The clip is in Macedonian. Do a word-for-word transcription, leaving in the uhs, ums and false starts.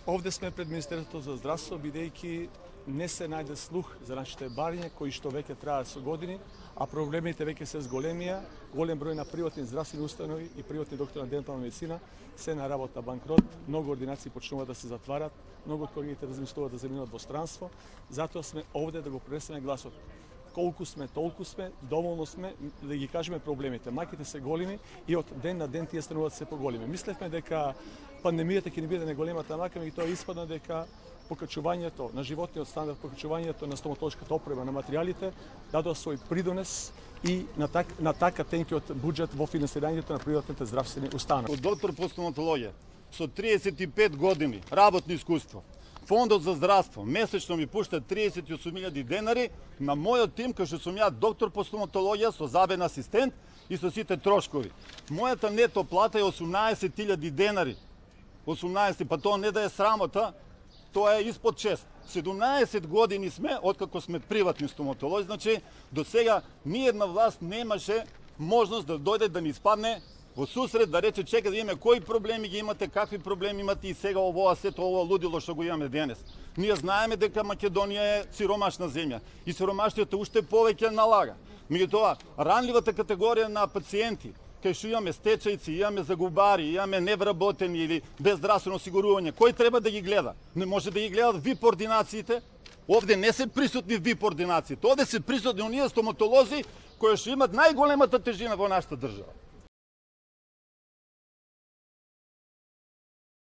Овде сме пред Министерството за здравство, бидејќи не се најде слух за нашите бариња, кои што веќе траат со години, а проблемите веќе се зголемија. Голем број на приватни здравствени установи и приватни доктори на дентална медицина се на работа банкрот, многу ординации почнуваат да се затварат, многу од колегите размислуваат да заминат во странство. Затоа сме овде да го пренесеме гласот. Колку сме, толку сме, доволно сме да ги кажеме проблемите. Маките се големи и од ден на ден тие стануваат се поголеми. Мислевме дека пандемијата ќе ни биде неголемата мака, меѓутоа тоа испадна дека покачувањето на животниот стандард, покачувањето на стоматолошката опрема, на материјалите, дадоа свој придонес и на, так, на така тенкиот буџет во финансирањето на приватните здравствени установи. Од доктор по стоматологија со триесет и пет години работно искуство, Фондот за здравство месечно ми пушта триесет и осум илјади денари на мојот тим, кај што сум ја доктор по стоматологија со забен асистент и со сите трошкови. Мојата нето плата е осумнаесет илјади денари. осумнаесет, па тоа не да е срамота, тоа е испод шест. седумнаесет години сме откако сме приватни стоматолози, значи до сега ниедна власт немаше можност да дојде да ни испадне во сусрет, да рече чека да имаме кои проблеми ги имате, какви проблеми имате и сега овоа сето ово лудило што го имаме денес. Ние знаеме дека Македонија е сиромашна земја и сиромаштието уште повеќе налага. Меѓутоа, ранливата категорија на пациенти, кај што имаме стечајци, имаме загубари, имаме невработени или без здравствено осигурување, кој треба да ги гледа? Не може да ги гледат ви по ординациите. Овде не се присутни ви по ординациите, овде се присутни оние стоматолози кои што имат најголемата тежина во нашата држава.